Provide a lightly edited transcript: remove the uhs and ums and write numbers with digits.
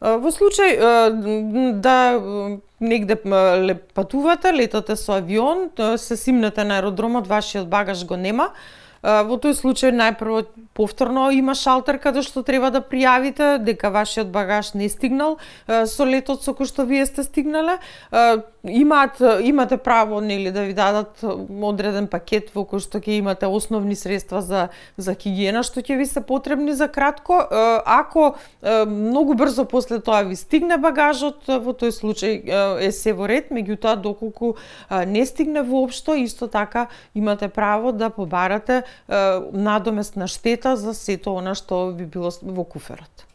Во случај да негде патувате, летате со авион, се симнете на аеродромот, вашиот багаж го нема, во тој случај најпрво повторно има шалтер каде што треба да пријавите дека вашиот багаж не стигнал со летот со кој што вие сте стигнале. Имате право нели да ви дадат одреден пакет во кој што ќе имате основни средства за хигиена што ќе ви се потребни за кратко. Ако многу брзо после тоа ви стигне багажот, во тој случај е се во ред, меѓутоа доколку не стигне воопшто, исто така имате право да побарате надоместна штета за сето она што би било во куферот.